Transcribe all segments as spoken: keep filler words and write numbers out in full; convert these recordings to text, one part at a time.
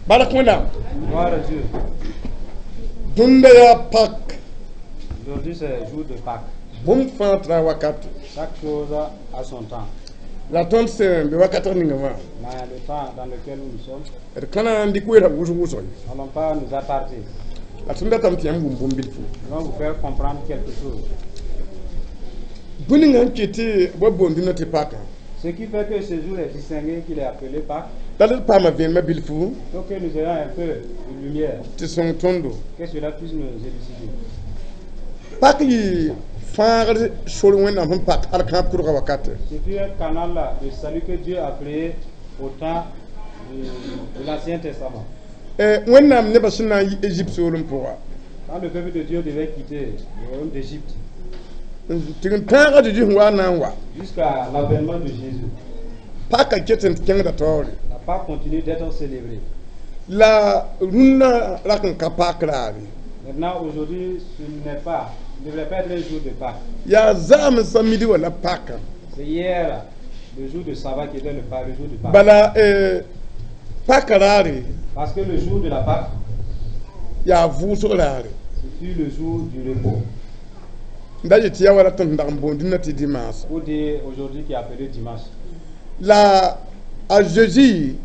Bark Wẽnnaam. Gloire à Dieu. Dũnda yaa Pâques. Aujourd'hui, c'est jour de Pâques. Bũmb fãa tara wakat. Chaque chose a son temps. La tõnd sẽn be wakat ninga wã, Mais le temps dans lequel nous sommes, d ka na n dɩk weera wʋsg wʋsg ye. nous n'allons pas nous attarder. La tõnd datame tɩ yãmb wʋm bũmb bilfu. Nous allons vous faire comprendre quelque chose. Bũmb ninga n kɩt tɩ b wa boond dũnã tɩ Pâques, Ce qui fait que ce jour est distingué, qu'il est appelé Pâques, la d paama vẽenemã bilfu pour que nous ayons un peu de lumière, tɩ sõng tõndo. Que cela puisse nous élucider. Pâques yɩ fãagd sor Wẽnnaam sẽn pak al kãab kʋdga wakate. Ce fut un canal de salut que Dieu a créé au temps de, de l'Ancien Testament. Wẽnnaam nebã sẽn na n yi Égypte soolem pʋga, Quand le peuple de Dieu devait quitter le royaume d'Égypte tɩ n tãag a Zeezi sẽn wa n na n wa, jusqu'à l'avènement de Jésus, paka ket n kẽngda taoore. La Pâque continue d'être célébrée. La rũnnã rak n ka Pâques raare. Maintenant, aujourd'hui, ce n'est pas, ne devrait pas être un jour de Pâques. Yaa zaam samedi wala Pâques. C'est hier, le jour de sabbat qui était le, le jour de Pâques. Bala eh, Pâques raare, Parce que le jour de la Pâque, yaa vʋʋsg raare. Ce fut le jour du repos. N da yet tɩ yaa wala tõnd dag n boond dũnã tɩ dimanche. Pour dire aujourd'hui qui est appelé dimanche. La a Zeezi,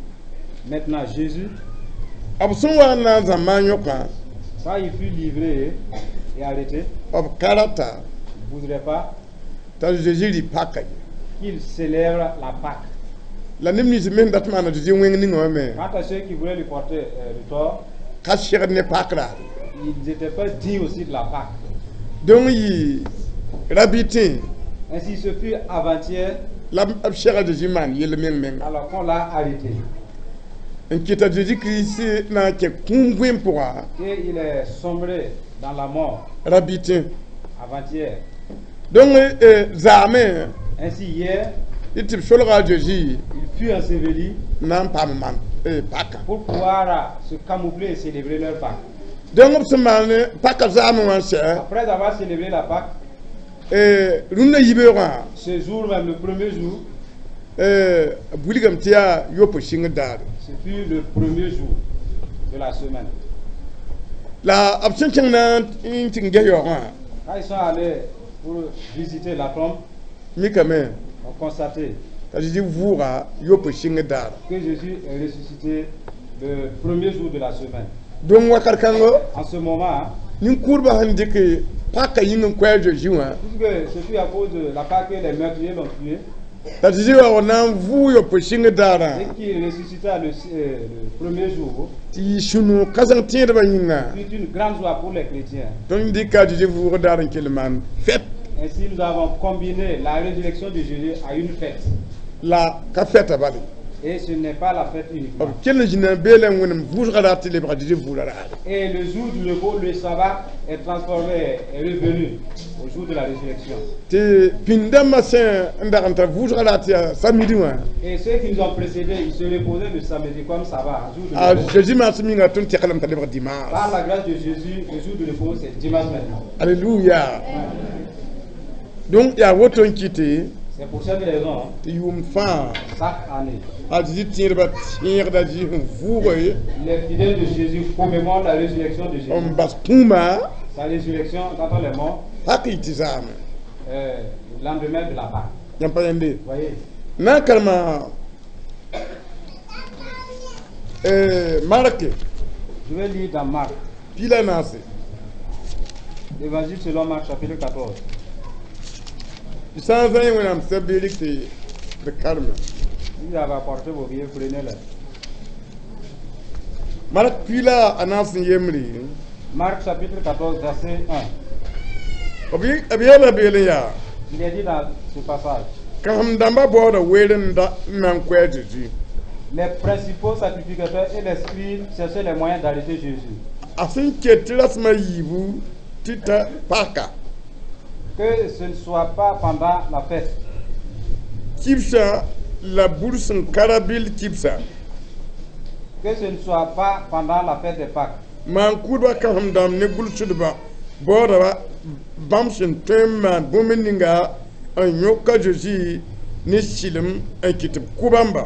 Maintenant, Jésus, b sẽn wa n na n zãmba n yõkã, quand il fut livré et arrêté, b ka rata il ne voudrait pas t'a Zeezi rɩ Pâques ye. Qu'il célèbre la Pâque. La neb nins me sẽn dat maana Zeezi wẽng ninga wã me Quant à ceux qui voulaient lui porter euh, le tort, ka segd ne Pâques raare. Ils n'étaient pas dignes aussi de la Pâque. Donc yɩ rabɩ Ainsi, ce fut avant-hier, la b sega Zeezi maan yell meng menga alors qu'on l'a arrêté. N kɩta Zeezi Kirist na n kẽ kũum vẽem pʋga. Et il est sombré dans la mort Rabɩ. Avant-hier. Donc eh, zaame, Ainsi, hier, tɩ b solga a Zeezi il fut enseveli na n paam maan eh, Pâques. Pour pouvoir euh, se camoufler et célébrer leur Pâques. Donc b sẽn maan Pâques zaame wã n sɛ, Après avoir célébré la Pâque, eh, rũndã yibeoogã, ce jour même, le premier jour, eh, b wilgame tɩ yaa yopo sɩngr daare. Ce fut le premier jour de la semaine. La b sẽn kẽng na n tɩ n ges yaoogã, Quand ils sont allés pour visiter la tombe, mikame on constaté t'a Zeezi vʋʋga yopo sɩngr daara. Que Jésus est ressuscité le premier jour de la semaine. Donc wakat kãngo, En ce moment, nin-kʋʋdbã sẽn dɩk Pâques yĩng n koɛɛ Zeezi wã, puisque ce fut à cause de la Pâque que les meurtriers l'ont tué, t'a Zeezi wa na n vʋʋg yopo sɩngr daarã, et qu'il ressuscita le, euh, le premier jour, tɩ yɩ sũ-noog kãseng tẽedbã yĩnga. Fut une grande joie pour les chrétiens. Tõnd dɩka a Zeezi vʋʋg daar n kell maan fête. Ainsi, nous avons combiné la résurrection de Jésus à une fête. La ka fɛta bale. Et ce n'est pas la fête uniquement. B kell n zĩna beelã n wẽnem vʋʋsga raar tɩ lebga Zeezi vʋʋla raare. Et le jour du repos, le sabbat, est transformé, est revenu au jour de la résurrection. Tɩ pĩnd-dãmbã sẽn n dag n tar vʋʋsga raar tɩ yaa samedi wã, Et ceux qui nous ont précédés, ils se reposaient le samedi comme sabbat, jour de a repos. Zeezi maas minga tõnd teglame t'a lebg dimanche. Par la grâce de Jésus, le jour de repos, c'est dimanche maintenant. Alléluia. Donc yaa woto n kɩte C'est pour cette raison, tɩ yʋʋm fãa, chaque année, a Zeezi tẽedbã tẽegda Zeezi sẽn vʋʋge les fidèles de Jésus commémorent la résurrection de Jésus. N bas kũumã. Sa résurrection d'entre les morts, Pâques yɩ tɩ zaame. euh, le lendemain de la Pâque. Yãmb pa yẽnde. Vous voyez, Na n karema eh, Mark, je vais lire dans Marc, piig la naase, l'évangile selon Marc, chapitre quatorze. Tɩ sã n zã yẽ Wẽnnaam sɛb-beelg tɩ d karme. Si vous avez apporté vos billets, prenez-les. Mark piig la a naas n yembre. Marc chapitre quatorze, verset un. B b yeela beel n yaa: Il est dit dans ce passage, kãsem-dãmbã baooda weer n da n na n koɛɛ Zeezi. Les principaux sacrificateurs et les scribes cherchaient les moyens d'arrêter Jésus. A sẽn ket tɩ rasmã yiibu tɩ ta paka. Que ce ne soit pas pendant la fête, Kibsã la bur sẽn ka rabɩl kibsa. Que ce ne soit pas pendant la fête des Pâques. Maan-kʋʋdbã kãsem-dãmb ne gʋlsdbã baoodaba bãmb sẽn tõe n maan bũmb ninga n yõka Zeezi ne sɩlem n kɩt b kʋ bãmba.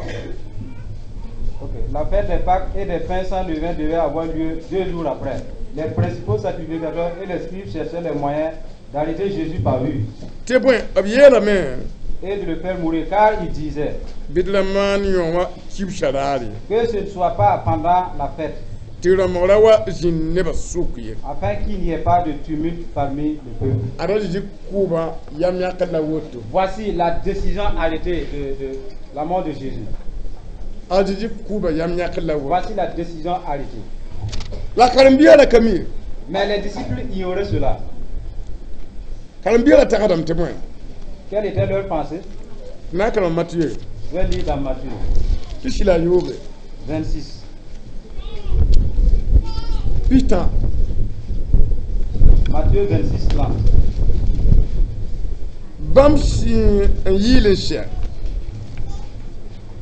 Ok. la fête des Pâques et des pains sans levain devait avoir lieu deux jours après, les principaux sacrificateurs et les scribes cherchaient les moyens d'arrêter Jésus par ruse Tɩ bõe b yeelame et de le faire mourir, car ils disaient bɩ d ra maan yõ wã kibsã raar ye que ce ne soit pas pendant la fête, tɩ rãmbgra wa zĩnd nebã sʋk ye afin qu'il n'y ait pas de tumulte parmi le peuple. Ada Zezi kʋʋbã yam yãkr la woto. Voici la décision arrêtée de, de la mort de Jésus. A Zezi kʋʋbã yam yãkr la woto. Voici la décision arrêtée. La karen-biigã ra ka mi. Mais les disciples ignoraient cela. Karen-biigã ra tagsdame tɩ bõe? Quelle était leur pensée? Na n karem Matiye. Je vais lire dans Matthieu pisi la yoobe. vingt-six. Pistã. Matthieu vingt-six, trente. Bãmb sẽn n yɩɩl n sɛ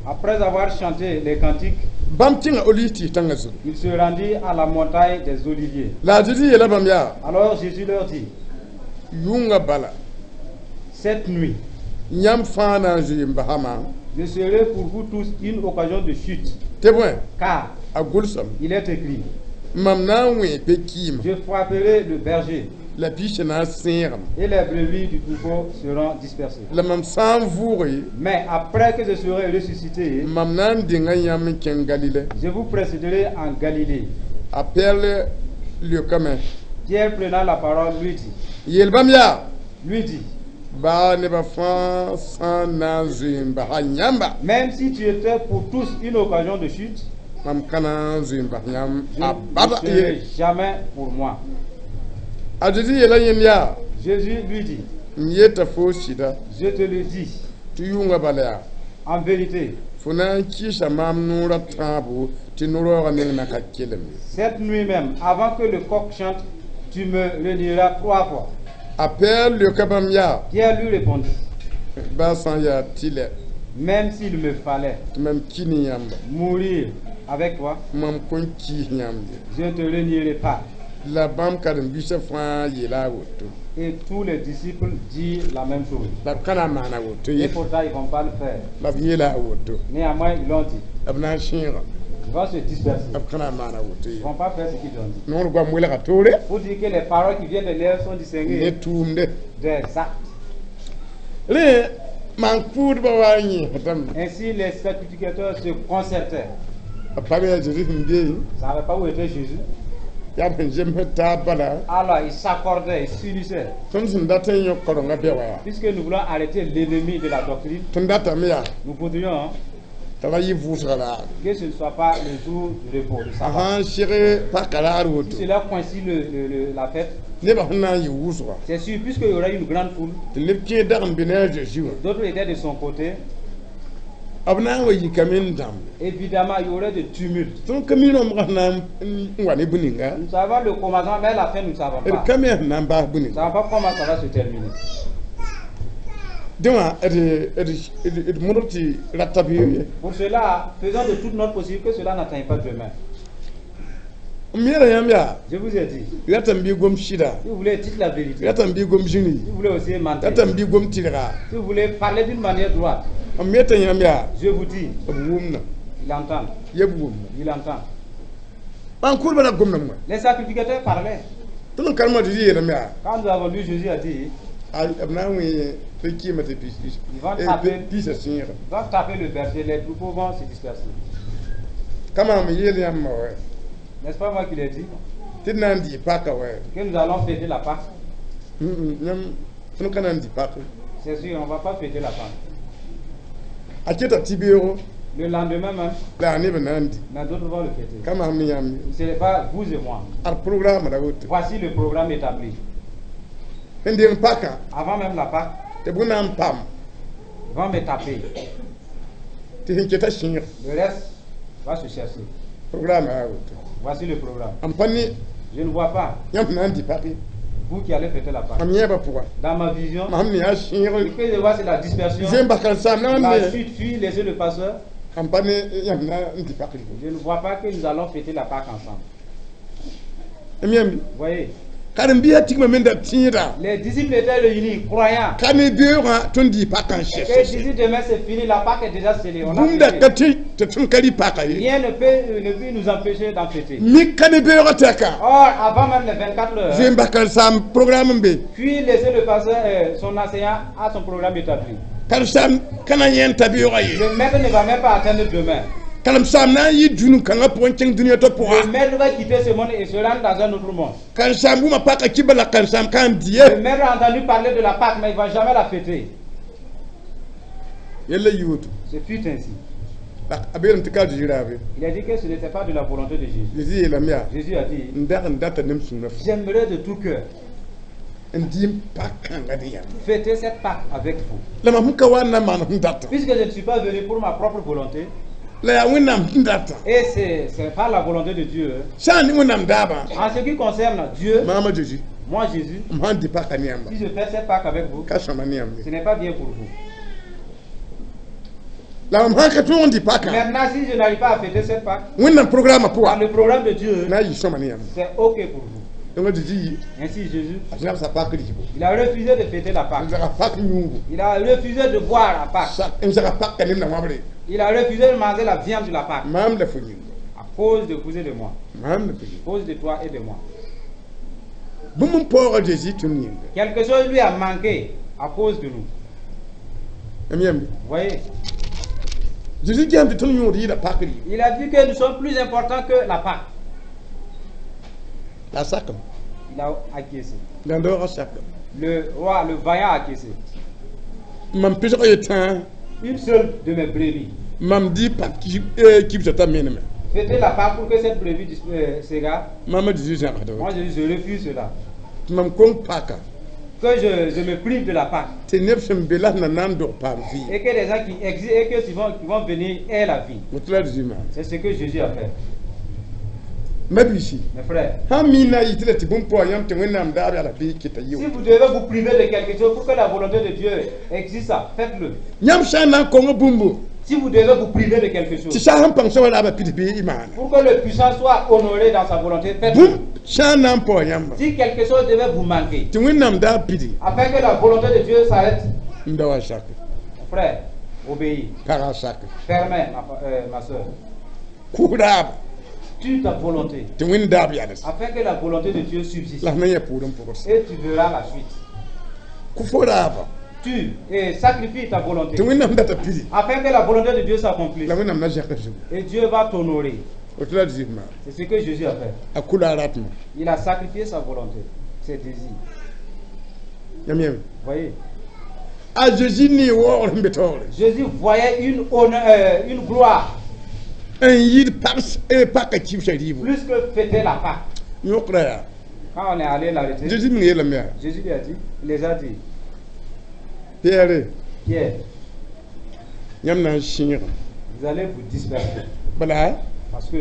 Après avoir chanté les cantiques, bãmb tẽnga olive tɩɩs tãngã zugu. Il se rendit à la montagne des Oliviers. La a Zezi yeela bãmb yaa: Alors Jésus leur dit, yʋngã bala cette nuit, yãmb fãa na n zoe n basama je serai pour vous tous une occasion de chute, tɩ bõe car a gʋlsame il est écrit, mam na n wẽ pe-kɩɩmã je frapperai le berger la piisã na n sẽegame et les brebis du troupeau seront dispersées. La mam sã n vʋʋge Mais après que je serai ressuscité, mam na n denga yãmb n kẽng Galile. Je vous précéderai en Galilée. A Pɛɛl leokame Pierre, prenant la parole, lui dit, yeel bãmb yaa lui dit, baa nebã fãa sã n na n zoe n basa yãmba même si tu étais pour tous une occasion de chute, mam ka na n zoe n bas yãmb je a ne bada serai ye. Jamais pour moi. A Zezi yeela yẽnd yaa: Jésus lui dit, n yeta fo sɩda je te le dis, tɩ yʋngã bala yaa en vérité, fo na n kɩɩsa maam noorã tãabo tɩ no-raoogã meng na ka kelem ye. Cette nuit même, avant que le coq chante, tu me renieras trois fois. A Pɛɛl leoka bãmb yaa: Pierre lui répondit, baa sã n yaa tɩlɛ même s'il me fallait tɩ mam ki ne yãmba mourir avec toi, mam kõn kiis yãmb ye. Je ne te renierai pas. La bãmb karen-biisã fãa yeela a woto. Et tous les disciples dirent la même chose. La b ka na n maana woto Et ye. Pourtant, ils ne vont pas le faire. La b yeela a woto. Néanmoins, ils l'ont dit. B na n sẽega. Ils vont se disperser. B ka na n maana woto Ils ye. ne vont pas faire ce qu'ils ont dit. Noor goam welga toore Pour dire que les paroles qui viennent de l'air sont distinguées ne tʋʋmde. Des actes. Rẽ maan-kʋʋdbã wa n yẽsdame. Ainsi, les sacrificateurs se concertaient. B pa be yaa Zeezi sẽn be. Ils ne savaient pas où était Jésus. Yaa b sẽn zems taab bala. Alors, ils s'accordaient, ils s'unissaient. Tõnd sẽn dat n yõk karenga bɛ wa yaa Puisque nous voulons arrêter l'ennemi de la doctrine, tõnd datame yaa nous voudrions, hein, t'a ra yɩ vʋʋsga raar que ce ne soit pas le jour du repos, le a sabbat. Sã n seg paka raar woto Si cela coïncide le, le- le- la fête, nebã sẽn na n yɩ wʋsga c'est sûr, puisqu'il y aura une grande foule, tɩ neb kẽer dag n be ne a Zeezi wã d'autres étaient de son côté, b na n wa yikame n dãmb. Évidemment, il y aurait de tumulte. Tõnd ka mi rãmbgã sẽn na n wa ne bũ-ninga. Nous savons le commencement, mais la fin, nous ne savons D pas. ka me sẽn na n baas Nous ne bũ-ninga. Savons pas comment ça va se terminer. Dẽ wã d modg tɩ rata bɩ ye. Pour cela, faisons de tout notre possible que cela n'atteigne pas demain. M yeela yãmb yaa Je vous ai dit, ratame bɩ gom sɩda si vous voulez dire la vérité, ratame bɩ gom zĩri si vous voulez aussi mentir, ratame bɩ gom tɩrga si vous voulez parler d'une manière droite, m yeta yãmb yaa je vous dis, b wʋmna il entend, yeb wʋmna il entend. maan-kʋʋdbã ra gomdame wã. Les sacrificateurs parlaient. Tõnd n karema tɩ yeelame yaa Quand nous avons lu, Jésus a dit, b na n wẽ pe-kɩɩmã tɩ Ils vont taper. Piisã sẽega. Il va taper le berger, les troupeaux vont se disperser. Ka maam yeel yãmb wa N'est-ce pas moi qui l'ai dit tɩ d na n dɩ paka wa que nous allons fêter la Pâque? Yãmb tõnd ka na n dɩ pake. C'est sûr, on ne va pas fêter la Pâque. A keta tɩ beoogo Le lendemain même, la a neb na n dɩ mais d'autres vont le fêter. Ka maam ne yãmb. Ce n'est pas vous et moi. Ad programme ra woto. Voici le programme établi. Sẽn deng pakã Avant même la Pâque, tɩ bũ na n pam ils vont me taper. Tɩ sẽn keta sẽeg. Le reste va se chercher. Programme yaa woto. Voici le programme. M pa ne Je ne vois pas, yãmb na n dɩ pake. Vous qui allez fêter la Pâque. Mam yẽebã pʋga. Dans ma vision, Mam ne yaa sẽeg. Ce que je vois, c'est la dispersion. Zẽm basã saam na La ne suite fuit, laissez le pasteur. M pa ne yãmb na n dɩ pake. Je ne vois pas que nous allons fêter la Pâque ensemble. M yãmb Vous voyez, Karen-biisã tigma me n da tẽeda. Les disciples étaient réunis, croyant. Ka ne beoogã tõnd dɩ pakã n Et sɛs. Jésus, demain c'est fini, la Pâque est déjà scellée. On a Bũmb da fêté. ka tɩ tɩ tõnd ka rɩ paka ye. Rien ne peut, euh, ne peut nous empêcher d'en fêter. Mik ka ne beoogã tɛka. Or, avant même les vingt-quatre heures, Zoe n bas karen-saam programme n be. Puis laisser le pasteur, euh, son enseignant à son programme établi. Karen-saam ka na yẽnd t'a beoogã ye. Le maître ne va même pas atteindre demain. Karen-saam na n yɩ dũni kãngã pʋgẽ n kẽng dũniyã to pʋga. Le maître va quitter ce monde et se rendre dans un autre monde. Karen-saam wʋma paka kibã la karen-saam ka n dɩ ye. Le maître a entendu parler de la Pâque, mais il ne va jamais la fêter. Yella yɩ woto. Ce fut ainsi. La a beelame tɩ ka Zeezi raabe. Il a dit que ce n'était pas de la volonté de Jésus. Zezi yeelame yaa. Jésus a dit, N dag n data ne m sũurã fo. J'aimerais de tout cœur N dɩ m pak kãnga dẽ yãmb. Fêter cette Pâque avec vous. La mam sẽn ka wa n na maan sẽn data. Puisque je ne suis pas venu pour ma propre volonté, La yaa Wẽnnaam sẽn data. Et c'est c'est pas la volonté de Dieu, hein. Sã n ne Wẽnnaam daabã. En ce qui concerne Dieu, Maama Zeezi. Moi Jésus, M sãn dɩ paka ne yãmba. Si je fais cette Pâque avec vous, Ka sõma ne yãmb ye. Ce n'est pas bien pour vous. La mam sãn ka tõog n dɩ paka. Maintenant, si je n'arrive pas à fêter cette Pâque, Wẽnnaam programme dans pʋga. Le programme de Dieu, Na n yɩ sõma ne yãmb. C'est OK pour vous. Donc Zeezi yi. Ainsi, Jésus, A zãbsa pak rɩɩbo. Il a refusé de fêter la N Pâque. zaga pak yũugo. Il a refusé de boire la Pâque. Sak n zaga pak ka neb na wãbre. Il a refusé de manger la viande de la Pâque. Maam la fo yĩnga. À cause de vous et de moi. Maam la fo yĩnga. À cause de toi et de moi. Bũmb n paooga Zeezi tõnd yĩnga. Quelque chose lui a manqué à cause de nous. M yãmb. Vous voyez, Zeezi gẽem tɩ tõnd yõod yɩɩda pak rɩɩbo. Il a vu que nous sommes plus importants que la Pâque. La a sakame. Il a acquiescé. Gãndoogã sakame. Le roi, le vaillant a acquiescé. Mam pɩsg yetã. Une seule de mes brebis. Mam dɩ pak kibsã t'a meneme. Fêter la Pâque pour que cette brebis dis- euh, s'égare. Maama Zeezi zãgsda. Moi, je, je refuse cela. Tɩ mam kõng paka. Que je, je me prive de la Pâque. Tɩ neb sẽn be la sẽn na na n dog paam vɩɩm. Et que les gens qui existent et que qui vont, qui vont venir aient la vie. Woto la Zeezi maan. C'est ce que Jésus a fait. Mabiisi. Mes frères, Sãn mi na n yɩ tɩ la tɩ bũmb paoog yãmb tɩ Wẽnnaam daab yaa la bɩ kɩta si yɩ. Vous devez vous priver de quelque chose pour que la volonté de Dieu existe, faites-le. Yãmb sã n na n kong bũmbu. Si vous devez vous priver de quelque Tɩ chose sã sẽn pãng soaba raaba pid bɩ y maana. Pour que le puissant soit honoré dans sa volonté, faites-le. Bũmb sã n na n paoog yãmba. Si quelque chose devait vous manquer, Tɩ Wẽnnaam daab pidi. Afin que la volonté de Dieu s'arrête, N da wa sake. Mon frère, obéis. Pagã sake. Permets, ma, euh, ma soeur. Kʋʋ raaba. Tue ta volonté, Tɩ Wẽnd daab yals. Afin que la volonté de Dieu subsiste. La f na yã pʋʋr n pʋgd. Et tu verras la suite. Kʋ fo raaba. Tue et sacrifie ta volonté, Tɩ Wẽnnaam data pidi. Afin que la volonté de Dieu s'accomplisse. La Wẽnnaam na zẽk zugu. Et Dieu va t'honorer. Woto la Zeezi maan. C'est ce que Jésus a fait. A kʋla a ratmã. Il a sacrifié sa volonté, ses désirs. Yãmb yãmb. Vous voyez, A Zeezi ne waoogr sẽn be taoore. Jésus voyait une honneur, euh, une gloire N yɩɩd paka kibsã rɩɩbo. Plus que fêter la Pâque. Yõkra yaa. Quand on est allé l'arrêter, Zeezi meng yeelame yaa. Jésus lui a dit, il les a dit, Pɩɛɛre. Pierre, Yãmb na n sẽegame. Vous allez vous disperser. Bala Parce que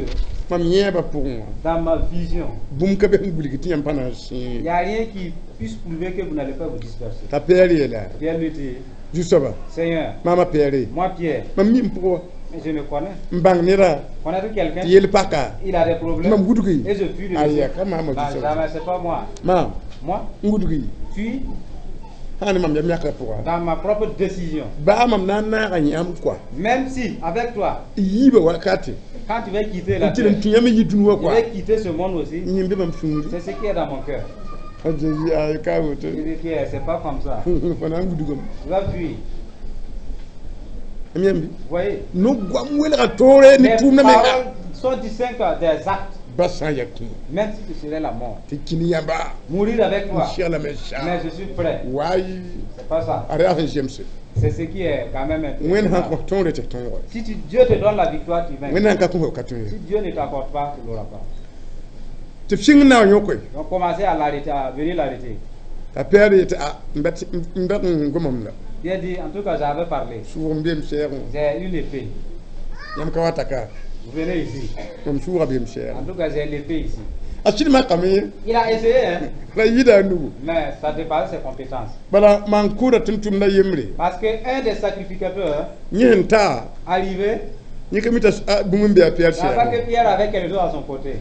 mam yẽebã pʋgẽ wã. Dans ma vision, Bũmb ka be sẽn wilg tɩ yãmb pa na n il sẽeg. N'y a rien qui puisse prouver que vous n'allez pas vous disperser. T'a Pɩɛɛr yeela. Pierre lui dit, Zu-soaba. Seigneur, Maama Pɩɛɛre. Moi Pierre, Mam mi n pʋgã wa. Mais je me connais. N bãng neda. Connaître quelqu'un, Tɩ yel paka. Il a des problèmes. Mam wudgi. Et je fuis le Aya laisser. ka maama Non, zu-soaba. jamais, c'est pas moi. Maam. Moi, N wudgi. Fuis Sã ne mam yam yãkra pʋga. Dans ma propre décision. Baa mam na n naaga yãmb kɔa. Même si, avec toi, Yiibã wakate. Quand tu vas quitter la N tɩ n terre, tũ yãmb yi dũni wã tu kɔa. vas quitter ce monde aussi, Yẽmbe mam sũuri. C'est ce qui est dans mon cœur. A Zeezi ay ka woto. Il dit, Pierre, c'est pas comme ça. Fo na n wudgame. Tu vas fuir. M yãmb. Vous voyez, No-goam welga toore ne les tʋʋmdã menga. Paroles sont distinctes des actes, Ba sã n yaa kũum. Même si ce serait la mort. Tɩ kĩni yãmba. Mourir avec N toi, seglame sa. Mais je suis prêt. Waay. C'est pas ça. A yaa sẽn zemse. C'est ce qui est quand même Wẽnd sãn intéressant. kõ tõore tɩ tõoge. Si tu- Dieu te donne la victoire, tu vaincs. Wẽnd sãn ka kõ fo ka tõe. Si Dieu ne t'accorde pas, tu l'auras pas. Tɩ b sɩng na n yõkoe. Donc commencez à l'arrêter, à venir l'arrêter. T'a Pɩɛɛr yetɩ a n ba tɩ- n bag n gomame la. Pierre dit, en tout cas, j'avais parlé. Sʋʋg n beem sɛɛgẽ wã. J'ai une épée. Yãmb ka wa ta ka. Vous venez ici. Mam sʋʋga beem sɛɛgẽ. En tout cas, j'ai l'épée ici. A sɩd makame. Il a essayé, hein, La yɩɩda a nugu. Mais ça dépasse ses compétences. Bala maan-kʋʋda tɩ n tʋmda yembre. Parce qu'un des sacrificateurs Yẽ sẽn taa. Arrivé, Yẽ ka mi t'a bũmb n be a Pɩɛɛr il pas sɛɛgẽ. Que Pierre avait quelque chose à son côté.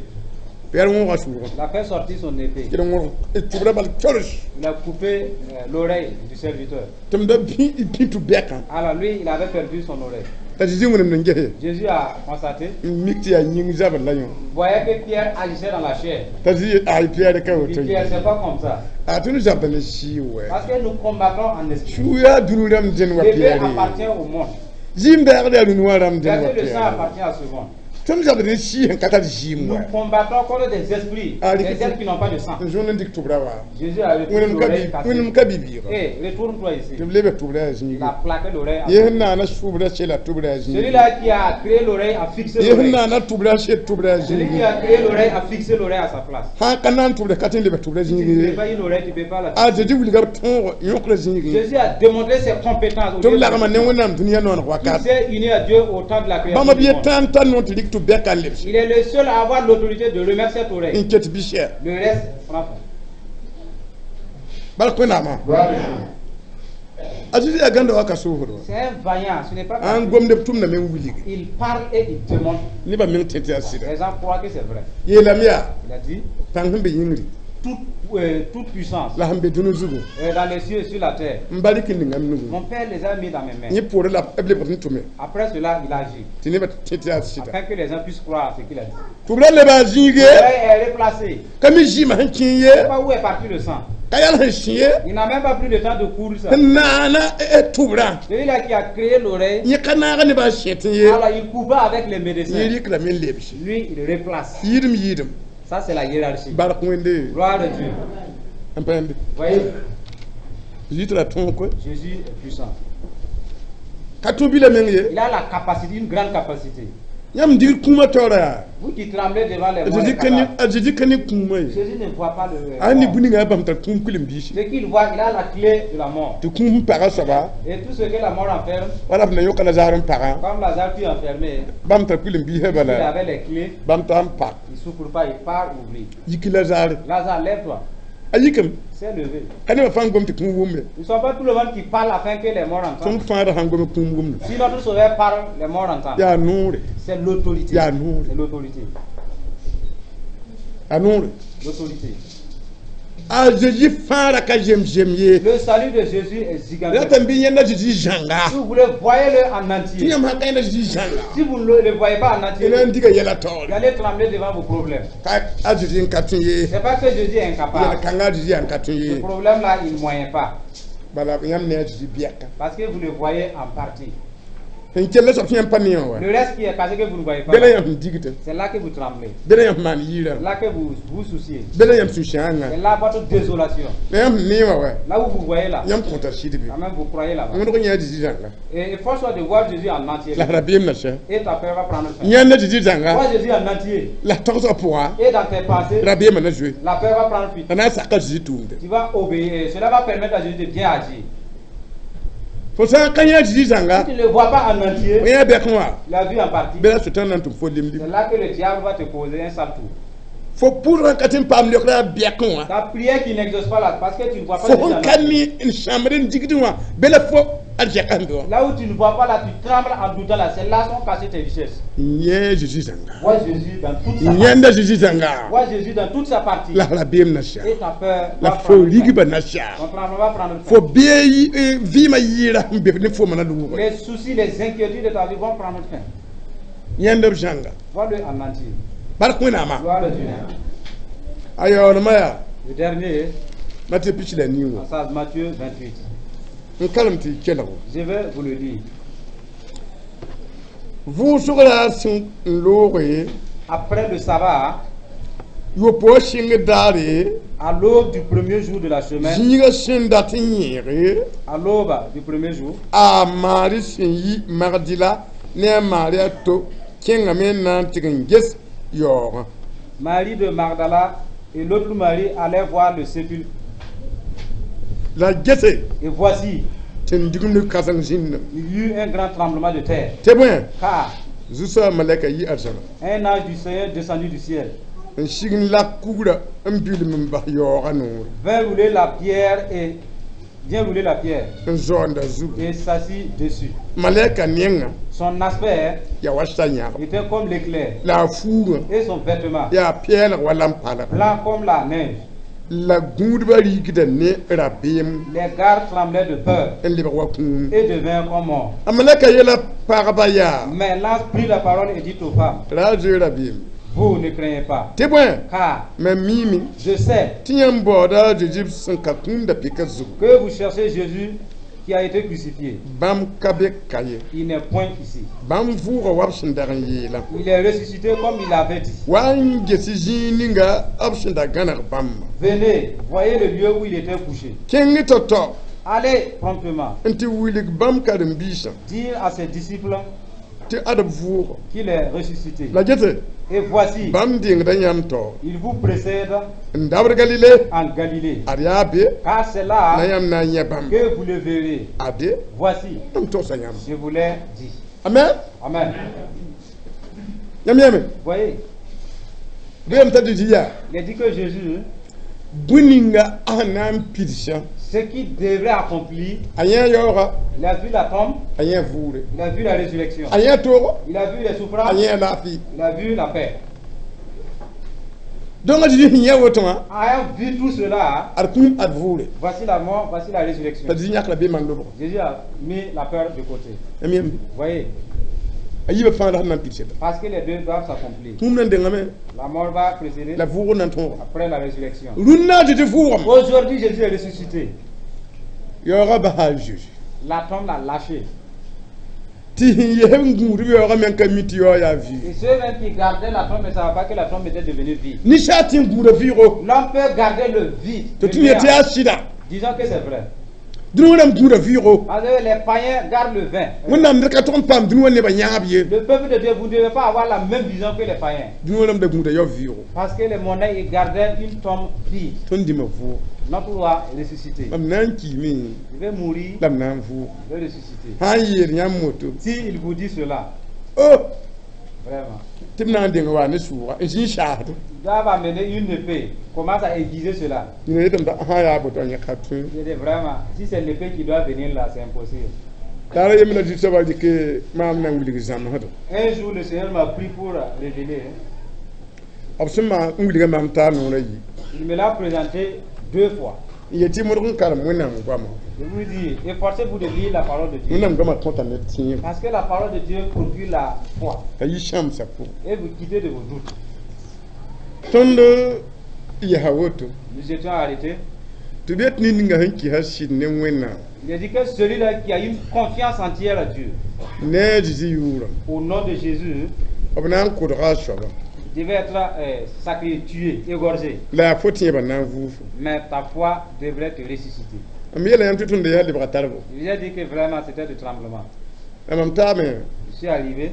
Piyɛr wõoga sʋʋgã. Il a fait sortir son épée. Tɩ d wõrg tʋbrã bal tols. Il a coupé euh, l'oreille du serviteur. Tɩ m da bĩ bĩ tɩ bɛkã. Alors lui, il avait perdu son oreille. T'a Zeezi wẽnem n gese. Jésus a constaté, n mik tɩ yaa yĩng zabr la yõ. il voyait que Pierre agissait dans la chair. T'a Zezi ay Piyɛr ka Il woto. dit, Pierre, c'est pas comme ça. A tõnd zabda ne sɩɩ wɛ. Parce que nous combattons en esprit. Suu yaa dũni rãmb dẽn wa L'épée Piyɛr. appartient au monde. Zĩm bɛɛgd yaa rũni wã rãmb dẽn wa Verser le sang Piyɛr. appartient à ce monde. Tõnd zabd ne sɩɩ sẽn ka tar zɩɩm Nous wa. combattons contre des esprits, Ah, des les- êtres qui n'ont pas de sang. N zõnd n dɩk tʋbrã wa. Jésus a repris Wẽnem ka l'oreille bi- cassée. wẽnem ka bi-bɩɩga. Hé, retourne-toi ici. Tɩ b lebe tʋbrã yaa Il zĩigi. a plaqué l'oreille. à Yẽ sẽn naana sʋʋbrã sela tʋbrã yaa zĩigi. Celui-là qui a créé l'oreille a fixé Yẽ sẽn l'oreille. naana tʋbrã sel tʋbrã yaa Celui qui zĩigi. a créé l'oreille a fixé l'oreille à sa place. Sã n ka na n tʋbra ka tõe n leb tʋbrã Si tu ne zĩigi. fais pas une oreille, tu ne peux pas la A fixer. Zezi wilga b tõog yõkra zĩigi. Jésus a démontré ses compétences. Au Tɩ b lieu de- lagma ne Wẽnnaam dũniyã nooneg Il wakat. s'est uni à Dieu au temps de la création Bãmba b du ye monde. tãn tar noor tɩ rɩk tɩ bɛka n lebs. Il est le seul à avoir l'autorité de remettre cette oreille. N ket bɩsɛ. Le reste prend fin. Bark Wẽnnaamã. Gloire à Dieu. A Zezi yaa gãnda wa ka soosd wa. C'est un vaillant, ce n'est pas Ãn facile. gomd b tʋmdame n wilg. Il parle et il démontre. Nebã meng tẽ tɩ yaa sɩda. Les gens croient que c'est vrai. Yeelame yaa Il a dit pãng sẽn be yĩngri toute, euh, toute puissance la sẽn be dũni zugu euh, dans les cieux et sur la terre. n ba rɩk n ninga m nugu. Mon père les a mis dans mes mains. Yẽ poorẽ la b lebg n tʋme Après cela, il agit. tɩ nebã tẽ tɩ yaa sɩda. Afin que les gens puissent croire à ce qu'il a dit. Tʋbrã leba a zĩige. L'oreille est replacée. Ka mi zɩɩmã sẽn kẽ ye. Je ne sais pas où est parti le sang. Ka yãl sẽn sẽ ye. Il n'a même pas pris le temps de coudre ça. Sẽn naana tʋbrã. Celui-là qui a créé l'oreille, Yẽ ka naaga nebã n sẽt ye. alors il coupa avec les médecins. Yẽ rɩklame n lebs. Lui, il replace. Yɩɩdem yɩɩdem. Ça, c'est la hiérarchie. Bark Wẽnde. Gloire à Dieu. N pãmbe. Voyez, Zezi tɩ ra tõog koe. Jésus est puissant. Ka tũ bila meng ye. Il a la capacité, une grande capacité. Yãmb digd kũumã taoora yaa. Vous qui tremblez devant les morts, Zezi les ka ne cadavres, a Zezi ka ne kũumã ye. Jésus ne voit pas le. A ne mort. bũ ninga a bãmb tar kũum kuilen-biisi. Ce qu'il voit, il a la clé de la mort. Tɩ kũum sẽn paga soaba Et tout ce que la mort enferme, wala b na yõka Lazare n pagã comme Lazare fut enfermé, bãmb tar kuilen-biisã il bala avait les clés, bãmb tar n pak. il ne souffre pas, il part ouvrir. Yiki Lazare. Lazare, lève-toi. A yikame. S'est levé. Ka nebã fãa n gom tɩ kũum wʋmbe. Ils ne sont pas tout le monde qui parle afin que les morts Tõnd entendent. fãada sãn gome kũum wʋmda. Si notre sauveur parle, les morts entendent. Yaa noore. C'est l'autorité. Yaa noore. C'est l'autorité. A noore. L'autorité. A Zezi fãada ka zem-zem ye. Le salut de Jésus est gigantesque. Ratame bɩ yẽnda Zezi zãnga. Si vous voulez, voyez-le en Tɩ entier. yãmb sã ka yẽnda Zezi zãnga. Si vous ne le, le voyez pas en entier, Y na n vous diga yɛla taoore. allez trembler devant vos problèmes. Ka a Zezi n ka tõe ye. C'est pas que Jésus est Yɛl incapable. kãnga a Zezi yaa n ka tõe Ce ye. problème-là, il ne moyen pas. Bala yãmb ne a Zezi bɛka. Parce que vous le voyez en partie. Sẽn kell soab tɩ yãmb pa ne wã wa. Le reste qui est caché que vous ne voyez pas, Bɩ la yãmb sẽn digtã. c'est là que vous tremblez. Bɩ la yãmb maan yɩɩrã. C'est là que vous vous souciez. Bɩ la yãmb sũ-sãangã. C'est là votre désolation. La yãmb sẽn nee wã wa. Là où vous voyez là, Yãmb kõta sɩd be. quand même vous croyez là-bas. Wẽneg yã a Zezi zãnga. Et il faut soit de voir Jésus en entier. La rabeem na sã. Et ta peur va prendre fin. Yãnd Zezi zãnga. Vois Jésus en entier. La togsga pʋga. Et dans tes pensées, Rabeemã na zoe. la peur va prendre fuite. La na n saka Zezi tʋʋmde. Tu vas obéir. Et cela va permettre à Jésus de bien agir. Fo sã n ka yã Zezi zãnga. Si tu ne le vois pas en entier, Fo yã bɛk wã. tu l'as vu en partie. Bɩ la sʋtãn na n tʋm fo lim-lim. C'est là que le diable va te causer un sale tour. Fo pʋʋdgã ka tɩ n paam leokra bɛkẽ wã. Ta prière qui n'exauce pas là, parce que tu ne vois pas Fo Jésus sẽn en ka entier. ne n sãmbd n digd wã bɩ la fo a zɛka sẽn be wã. Là où tu ne vois pas là, tu trembles en doutant là. C'est là sont cachées tes richesses. N yẽ Zezi zãnga. Vois Jésus dans toute sa N partie. yẽnda Zezi zãnga. Vois Jésus dans toute sa partie. La rabeem na sã. Et ta peur La va fo prendre fin. rigba na sã. Ton tremblement va prendre fin. Fo bee vɩɩmã yɩɩra sẽn be ne fo mana lʋʋgre. Les soucis, les inquiétudes de ta vie vont prendre fin. Yẽnd b zãnga. Vois-le en entier. Bark Wẽnnaamã. Gloire à Dieu. A yaoolmã yaa Le dernier, Matɩ pis la nii wã. passage Matthieu vingt-huit. N kalem tɩ y kelg. Je vais vous le lire. Vʋʋsg ra sẽn n looge Après le sabbat, yopoog sɩng daare à l'aube du premier jour de la semaine, zĩigã sẽn dat n yẽege à l'aube du premier jour, a Maari sẽn yi Magdila ne a Maari a to kẽngame n na n tɩg n ges yaoogã. Marie de Magdala et l'autre Marie allaient voir le sépulcre. La gese Et voici, tɩ n digimd kãseng zĩndame. il y eut un grand tremblement de terre, Tɩ bõe car zu-soabã malɛka yi arzãna un ange du Seigneur descendu du ciel n sig n lak kugrã n bilm n bas yaoogã noore. Vint rouler la pierre et vient rouler la pierre n zaoonda zugu. Et s'assit dessus. Malɛka nenga Son aspect yaa wa sa yãgb était comme l'éclair la a fuugã et son vêtement yaa pɛɛlg wa lam-palg blanc comme la neige. La gũudbã rigda ne rabeem Les gardes tremblaient de peur n lebg wa kũum. Et devinrent comme morts. A malɛka yeela pagba yaa Mais l'ange prit la parole et dit aux femmes, ra a zoe rabeem vous ne craignez pas, tɩ bõe car mam miime je sais tɩ yãmb baooda a Zeezi sẽn ka kũum da pika zugu. Que vous cherchez Jésus qui a été crucifié. Bãmb ka be ka ye. Il n'est point ici. Bãmb vʋʋga wa b sẽn dag n yeelã. Il est ressuscité comme il l'avait dit. Wa n ges zĩig ninga b sẽn da gãneg bãmba. Venez, voyez le lieu où il était couché. Kẽng tao-tao Allez promptement n tɩ wilg bãmb karen-biisã dire à ses disciples tɩ ad b vʋʋga. Qu'il est ressuscité. La gete Et voici, bãmb dengda yãmb taoor il vous précède n dabd Galile en Galilée. Ad yaa be Car c'est la là yãmb na n yẽ bãmb. Que vous le verrez. Ade Voici, m togsa yãmb. Je vous l'ai dit. Amen. Amen. Yãmb yãme Voyez, bɩ t'a Zeezi yaa il est dit que Jésus, bũn ninga a sẽn na n pidsã ce qu'il devrait accomplir, a yẽ yaooga il a vu la tombe, a yẽ vʋʋre il a vu la résurrection, a yẽ toogo il a vu les a souffrances, yẽ laafɩ. Il a vu la paix. Donc a Zeezi sẽn yẽ woto wã Ayant vu tout cela, ad kũum ad vʋʋre voici la mort, voici la résurrection. T'a Zeezi yãk la beemã n lobg. Jésus a mis la peur de côté. Yãmb yãmb Voyez, a yiibã fãa la sẽn na n pidsda. Parce que les deux doivent s'accomplir. Kũum na n dengame La mort va précéder la vʋʋg na n tõoga. Après la résurrection. Rũnnã a Zeezi vʋʋgame. Aujourd'hui, Jésus est ressuscité. Yaoogã basa a Zeezi. La tombe l'a lâché. Tɩ sẽn yesb n gũudb yaoogã me n ka mi tɩ yaoog yaa Et vɩɩg. Ceux même qui gardaient la tombe ne savaient pas que la tombe était devenue vide. Ninsaal tɩ n gũuda vɩɩgo L'homme peut garder le vide. tɩ Le tɩ yet tɩ néant. yaa sɩda. Disons que c'est vrai. Dũni rãmb gũuda vɩɩgo. Parce que les païens gardent le vin. Wẽnnaam ned ka tog n paam dũni wã nebã yãab ye. Le peuple de Dieu, vous ne devez pas avoir la même vision que les païens. Dũni rãmb da gũuda yao vɩɩgo. Parce que les mondains, ils gardaient une tombe vide. Tõnd dĩmã vʋʋg. Notre roi est ressuscité. Mam na n kiime Il veut mourir, la m na n vʋʋg. Il veut ressusciter. Sã n yeel yãmb moto Si il vous dit cela, o vraiment, tɩ b na n deng wa ne sʋʋga n zĩ n saasd. Ils doivent amener une épée. Commence à aiguiser cela. Yẽ yetame t'a sã yaa boto yẽ ka tõe. Je dis vraiment, si c'est l'épée qui doit venir là, c'est impossible. Taara yembra zu-soabã dɩk maam na n wilg zãmsdɔ. Un jour, le Seigneur m'a pris pour révéler, hein. B sẽn maan n wilga maam taar noorã yi. Il me l'a présenté deux fois. N yetɩ modg n karem Wẽnnaam goama. Je vous dis, efforcez-vous de lire la parole de Dieu. Wẽnnaam goamã kõta ned tẽebo. Parce que la parole de Dieu procure la foi. T'a yi sãamsã pʋgẽ. Et vous quittez de vos doutes. Tõnd yɛsa woto Nous étions arrêtés. Tɩ b yet ned ninga sẽn kɩsa sɩd ne Wẽnnaam Il a dit que celui-là qui a une confiance entière à Dieu, ne a Zeezi yʋʋrã au nom de Jésus, b na n kʋdga a soaba devait être euh, sacrifié, tué, égorgé. La yaa fo tẽebã na n vʋʋfo. Mais ta foi devrait te ressusciter. M yeela yãmb tɩ tõnd yaa lebga tarbo. Je vous ai dit que vraiment c'était du tremblement. La mam taame Je suis arrivé,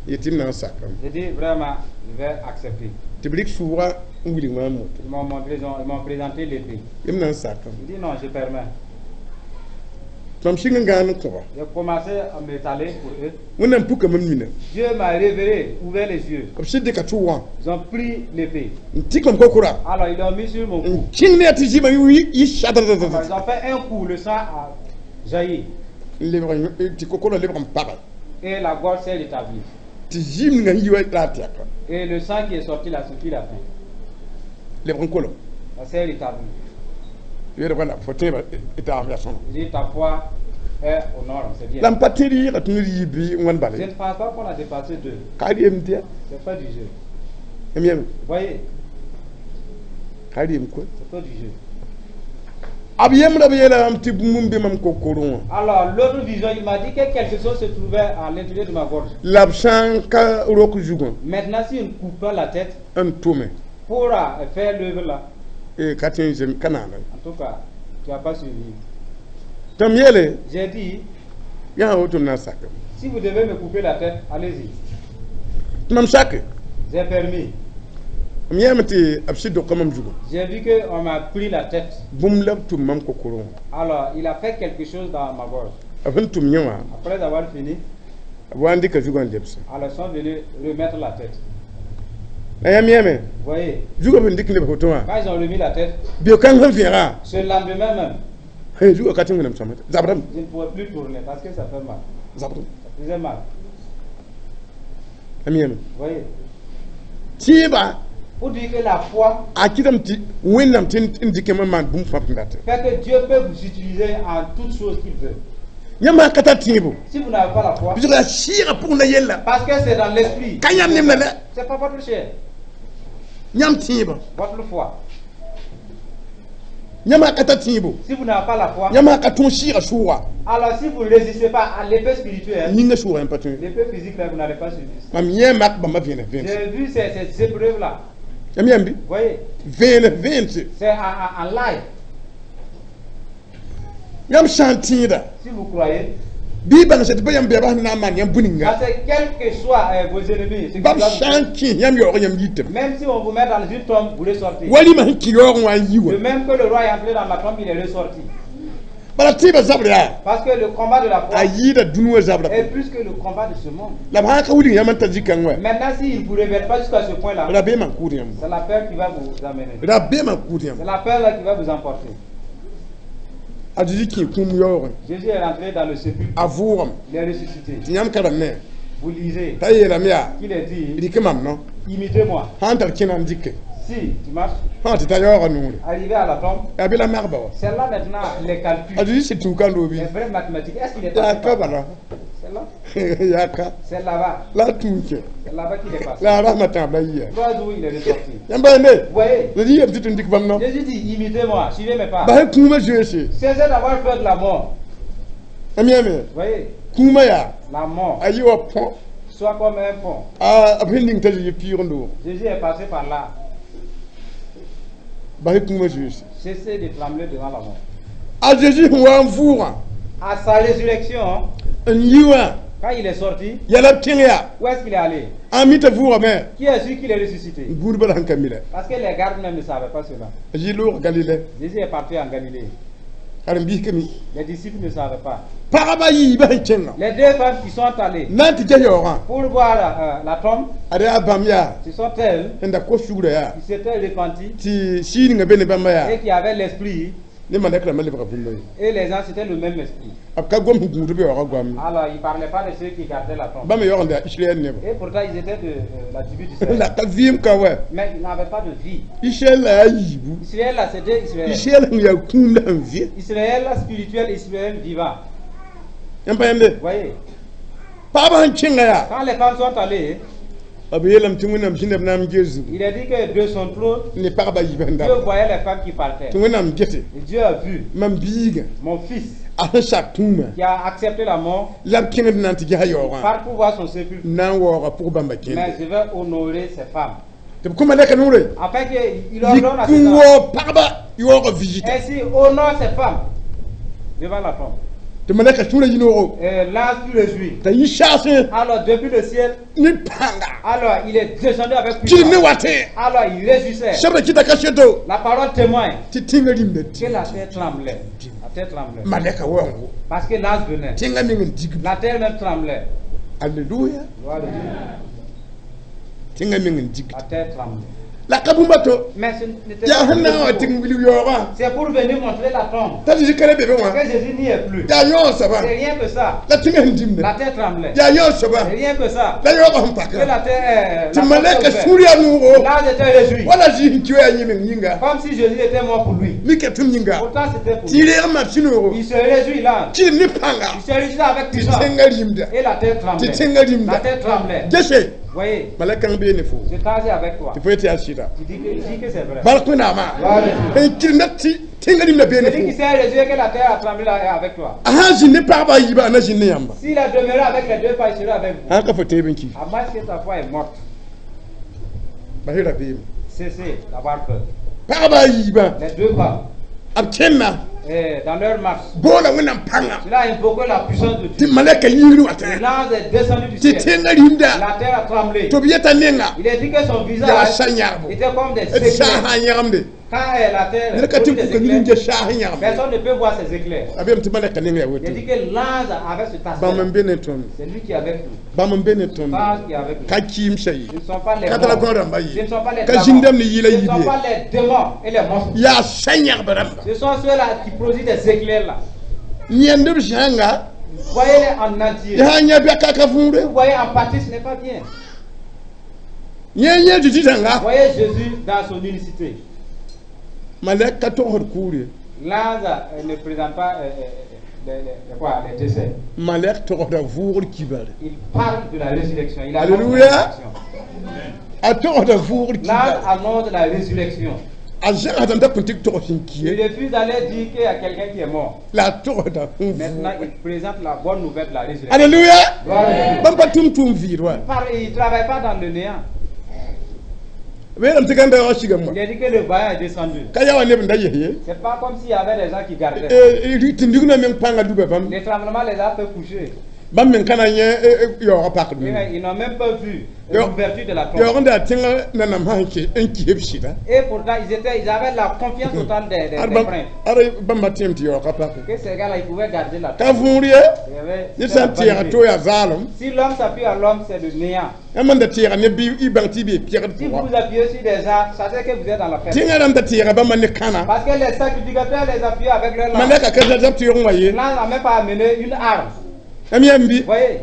yetɩ m na n sakame. J'ai dit vraiment, je vais accepter. Tɩ b rɩk sʋʋga n wilg maam moto. Ils m'ont montré, ils ont- ils m'ont présenté l'épée. M na n sakame. J'ai dit non, je permets. Tɩ mam sɩng n gãan n kõba. J'ai commencé à m'étaler pour eux. Wẽnnaam puka mam nina. Dieu m'a révélé, ouvert les yeux. B sɩd dɩka tɩ wã Ils ont pris l'épée. N tɩk mam kokora Alors ils l'ont mis sur mon cou. N kẽng ne yaa tɩ zɩma yɩ Alors, sadradadada ils ont fait un coup, le sang a jailli. N lebg tɩ kokora lebg n paga. Et la gorge s'est rétablie. Tɩ zɩɩm ninga sẽn yi wa la a tɛka. Et le sang qui est sorti là, ce fut la fin. Lebg n kolem. Ça s'est rétabli. Yeele wala fo tẽebã taam yaa sõma. J'ai dit, ta foi est aux normes, c'est bien. La m pa tẽed yɩɩga tɩ ned yɩ bɩ n wãn Je bala ne pense pas qu'on a dépassé deux. Ka reem tɩ ya. C'est pas du jeu. M yẽme Vous voyez, ka reem koe. C'est pas du jeu. B yembrã b yeela mam tɩ bũmb n be mam kokorẽ wã. Alors, l'autre vision, il m'a dit que quelque chose se trouvait à l'intérieur de ma gorge. La b sã n ka rok zugã Maintenant, si je ne coupe pas la tête n tʋme pour euh, faire l'œuvre là, eh, ka tõe n zem ka naana. En tout cas, tu n'as pas suivi. Tɩ m yeele J'ai dit, yaa woto m na n sakame. Si vous devez me couper la tête, allez-y. Tɩ mam sake. J'ai permis. M yɛɛme tɩ b sɩd doka mam zugã. J'ai vu qu'on m'a pris la tête. Bũmb la b tʋm mam kokorẽ wã. Alors, il a fait quelque chose dans ma gorge. B sẽn tʋm yẽ wã Après avoir fini, b wa n dɩka zugã n lebse. Alors ils sont venus remettre la tête. La yãmb yẽme Vous voyez, zugã b sẽn dɩk n lebs woto wã quand ils ont remis la tête, beo-kãng sẽn vẽega ce lendemain même, Hey, zugã ka tɩ wẽnnaam sõma zabrame. Je ne pouvais plus tourner parce que ça fait mal. Zabrame. Ça faisait mal. A yãme. Vous voyez? Tẽebã Pour dire que la foi a kɩtame tɩ Wẽnnaam tɩ n dɩkame n maan bũmb fãa b dat. Fait que Dieu peut vous utiliser en toutes choses qu'il veut. Yãmb sã n ka tar tẽebo, Si vous n'avez pas la foi, bɩ yaa sɩɩgã pʋgẽ la yella. Parce que c'est dans l'esprit. Ka yãmb nemda la. C'est pas votre chair, Yãmb tẽebã. Votre foi. Yãmb sã n ka tar tẽebo, Si vous n'avez pas la foi, yãmb sã n ka tõog sɩɩgã sʋʋga, alors si vous ne résistez pas à l'effet spirituel, yĩngã sʋʋga yãmb pa tõe. L'effet physique là, vous n'allez pas subir. Mam yẽ mak bãmba vẽenes vẽense. J'ai vu ces, ces épreuves-là. Yãmb yãmb bɩ? Vous voyez, Vẽenes vẽense. C'est en, en, en live. Yãmb sã n tẽeda, Si vous croyez, bɩ y bãng tɩ pa yãmb bɛɛbã sẽn na n maan yãmb bũ-ninga. Parce que quels que soient euh, vos ennemis, ce qui Bãmb doivent vous sã n kẽ yãmb yaoog yãmb yitame. Même si on vous met dans une tombe, vous ressortez. Walima sẽn kẽ yaoogẽ wã n yi wã. De même que le roi est entré dans la tombe, il est ressorti. Bala tẽebã zabr yaa Parce que le combat de la foi a yɩɩda dũni wã zabra. Est plus que le combat de ce monde. La b sã n ka wilg yãmb n ta zĩ-kãng wã, Maintenant, s'il ne vous révèle pas jusqu'à ce point-là, rabeemã n kʋʋd yãmb. C'est la peur qui va vous amener. Rabeemã n kʋʋd yãmb. C'est la peur là qui va vous emporter. A Zezi kẽ kũum yaoogẽ. Jésus est rentré dans le sépulcre, A vʋʋgame. Il est ressuscité. Tɩ yãmb karem ne Vous lisez t'a yeelame yaa qu'il est dit, rɩk mam no imitez-moi. Sã n tar kẽna n dɩke Si tu marches, sã tɩ ta yaoogã noore arrivé à la tombe, yaa bɩ la magba wa. C'est là maintenant les calculs, A Zezi sɩd tũuka n roobi les vraies mathématiques. Est-ce qu'il est yaa passé ka par là? Bala. C'est là. Yaa ka. C'est là-bas. La a tũu kẽ. C'est là-bas qu'il est passé. La a rasmã tãab la yia. Trois jours, il est ressorti. Yãmb pa yende. Vous voyez? Zezi yeelame tɩ tɩ n dɩk bãmb no. Jésus dit, imitez-moi, suivez mes pas. Bas kũumã zoeese. Cessez d'avoir peur de la mort. Yãmb yãame. Vous voyez? Kũumã yaa La mort, a yɩ wa põ soit comme un pont. A b sẽn ning t'a Zezi piig n doog. Jésus est passé par là. Bas kũumã zoeese. Cessez de trembler devant la mort. A Zezi sẽn wa n vʋʋgã À sa résurrection, n yi wã quand il est sorti, yɛla b kẽng yaa où est-ce qu'il est allé? A mi t'a vʋʋgame. Qui est celui qui l'est ressuscité? Gũudbã la sẽn ka mi la. Parce que les gardes même ne savaient pas cela. A yɩ loog Galile. Jésus est parti en Galilée. Karen-biis ka mi. Les disciples ne savaient pas. Pagba yiibã sẽn kẽngã Les deux femmes qui sont allées na n tɩ ges yaoogã pour voir euh, la tombe, ad yaa bãmb yaa ce sont elles sẽn da kos sugrã yaa qui s'étaient repenties tɩ sii ninga be ne bãmba yaa et qui avaient l'esprit. Ne malɛk rãmbã lebga bũmba ye. Et les gens, c'était le même esprit. B ka gom sẽn gũud b yaoogã goam. Alors, ils ne parlaient pas de ceux qui gardaient la tombe. Bãmb yaoog n yaa Israɛl neba. Et pourtant, ils étaient de euh, la tribu d'Israël. La ka vɩɩm ka wa. Mais ils n'avaient pas de vie. Israɛl la yaa yiibu. Israël, là, c'était Israël. Israɛl sẽn yaa kũum la sẽn vɩ. Israël spirituel, Israël vivant. Yãmb pa yãmbe. Vous voyez? Pagbã sẽn kẽnga yaa Quand les femmes sont allées, b yeelame tɩ Wẽnnaam zĩnda b na n ges zugu il est dit que de son trône, ne pagba yiibã sẽn Dieu da voyait les femmes qui partaient. Tɩ Wẽnnaam gete Et Dieu a vu mam biigã mon fils a sẽn sak kũumã qui a accepté la mort la b kẽngd na n tɩ gesa yaoogã par pour voir son sépulcre. n na n waooga pʋg bãmba Mais kẽnde je vais honorer ces femmes. Tɩ b kõ malɛka noore Afin qu'il ordonne à yik ces n gens. waoog pagba yaoogã visita. Ainsi, honore ces femmes devant la tombe. Tɩ malɛka sũurã yinoogo Et l'ange fut réjoui. T'a yĩ saasẽ Alors, depuis le ciel, ne pãnga alors il est descendu avec kɩrem ne puissance. watẽ. Alors, il réjouissait. Sebra kɩta kaseto La parole témoigne tɩ tẽngã rĩmda que la terre tremblait. La terre tremblait. Malɛka waoongo Parce que l'ange venait. tẽngã meng n dig. La terre même tremblait. Alleluya. Gloire à Dieu. Tẽngã meng n dig. La terre tremblait. La ka bũmba to Mais ce n'était yaa pas sẽn na n wa tɩ n wilg yaoogã C'est pour venir montrer la tombe. t'a Zezi ka ra be be wã Que Jésus n'y est plus. yaa yõog soaba C'est rien que ça. la tẽngã sẽn dimde La terre tremblait. yaa yõog soaba C'est rien que ça. la yaoogã sẽn Que paka la terre. Euh, tɩ la malɛka porte ouverte. sũur yaa noogo L'ange était réjoui. wala zĩ sẽn kɩ yaa yẽ meng yĩnga. Comme si Jésus était mort pour lui. Mika tʋm yĩnga. Pourtant, c'était pour Tɩ lui. reeg mam sũ-noogo. Il se réjouit, l'ange. Kɩrem ne pãnga. Il se réjouit avec Tɩ puissance. tẽngã rĩmda. Et la terre Tɩ tremblait. tẽngã La rĩmda. terre tremblait. Gese. Voyez, Malɛk kãng bee ne fo. je t'en avec toi. Tɩ fo yetɩ yaa sɩda. Tu dis que, dis que c'est vrai. Bark Wẽnnaamã. Gloire à Dieu. N kɩremda tɩ tẽngã rĩmda bee ne Celui qui fo. s'est réjoui que la terre a tremblé là est avec toi. A sã n zĩnd ne pagba a yiibã a na zĩnd ne yãmba. S'il a demeuré avec les deux femmes, il sera avec vous. Sã n ka fo tẽeb n ki. À moins que ta foi est morte. Bas y rabeem. Cessez d'avoir peur. Pagba a yiibã. Les deux femmes, B kẽnna. eh, dans leur marche, Boola Wẽnnaam pãnga. cela a invoqué la puissance de Tɩ Dieu. malɛka yĩngr watẽ. L'ange est descendu du Tɩ ciel. tẽngã rĩmda. La terre a tremblé. Tɩ b yeta nenga. Il est dit que son Yaa visage sa yãgbo. était comme des D sã éclairs. sã n yãgemde. Quand euh, la terre Ned ka tɩ n produit des kuka ned n éclairs, ges saas n yãgem. personne ne peut voir ces éclairs. A beem tɩ malɛka neng yaa Il woto. dit que l'ange avait cet Bãmb n aspect. be ne tõnd. C'est lui qui est avec nous. Bãmb n be ne tõnd. L'ange qui est avec nous. Ka kɩɩmsã ye. Ce ne sont pas les Ka tara morts. gõ rãmba Ce ye. ne sont pas les Ka dragons. zĩndame ne yɩɩla Ce ne sont yiib pas les démons et les monstres. ye. Yaa sã yãgb rãmba. Ce sont ceux-là qui produisent des éclairs là. Yẽnd b zãnga Voyez-les en entier. yaa yã bɛka ka võore. Vous voyez en partie, ce n'est pas bien. Yẽ yẽ Zeezi zãnga. Voyez Jésus dans son unicité. Malɛk ka togsd kuur ye. L'ange euh, ne présente pas euh, euh, les, les- les- quoi, les décès. Malɛk togsda vʋʋgr kibare. Il parle de la résurrection. Il annonce Alléluia. la résurrection. A togsda vʋʋgr L'ange kibare. annonce la résurrection. A zãgsdame t'a kõn tɩ togs sẽn ki Il ye. refuse d'aller dire qu'il y a quelqu'un qui est mort. La a togsda sẽn Maintenant, vʋʋg. il présente la bonne nouvelle de la résurrection. Alléluia. Gloire à Dieu. Bãmb pa tʋm tʋʋm vɩɩd wa. Par- Il ne travaille pas dans le néant. Weelame tɩ gãnda yaoog sigame wã. Il a dit que le vaillant est descendu. Ka yaa wa neb n da yes ye. C'est pas comme s'il y avait des gens qui gardaient. Tɩ rigna meng pãngã duba bãmb. Les tremblements les a fait coucher. Bãmb meng ka na yẽ yaoogã pakd Mais me. Ils n'ont même pas vu Yo. l'ouverture de la tombe. Yaoog n daa tẽngã nanam sã n kis b sɩda. Et pourtant, ils, étaient, ils avaient la confiance totale des, des, Ad des bãmb princes. ad bãmba tẽem tɩ yaoogã pake. Que ces gars-là, ils pouvaient garder la Ka tombe. võor ye. Il y avait- Ned c'était sã la n tẽega vanité. to yaa zaalem. Si l'homme s'appuie à l'homme, c'est le néant. Yãmb n da tẽega ne bɩ y bãng tɩ y bee pɛgd Si vous pʋga. vous appuyez sur des gens, sachez que vous êtes dans la fête. Tẽngã rãmb da tẽega bãmba ne kãna. Parce que les sacrificateurs les appuyaient avec leur lance. Malɛka ka zab tɩ yog wã ye. L'ange n'a même pas amené une arme. Yãmb yãmb bɩ. Vous voyez,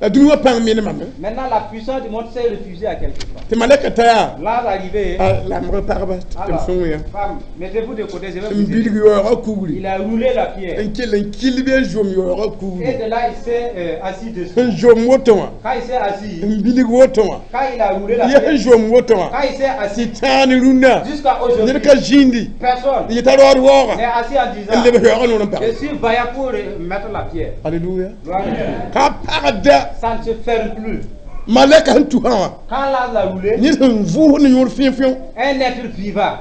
La dũni wã pãng menemame. maintenant la puissance du monde s'est refusée à quelque part. Tɩ malɛka ta yaa. L'ange arrivé, lamg pagba tɩ m alors, sõng yã. femme, mettez-vous de côté, je vais N vous aider. bilg yaoogã kugri. Il a roulé la pierre. N kell n kil bɩ n zom yaoogã Et kugri. de là, il s'est euh, assis dessus. N zom woto wã. Quand il s'est assis, N bilg woto wã. quand il a roulé la Yɛ pierre, n zom woto wã. quand il s'est assis, Tɩ tãan rũnnã. jusqu'à aujourd'hui, Ned ka zĩndi. personne N yeta raood waooga. n'est assis en N disant leb yaoogã noor n pag. Je suis vaillant pour mettre la pierre. Alléluia. Gloire à Dieu. Ka pagda Ça ne se ferme plus. malɛka sẽn tusã wã. Quand l'ange a roulé, Ned sẽn vʋʋs ne yõor fẽe-fẽo. un être vivant,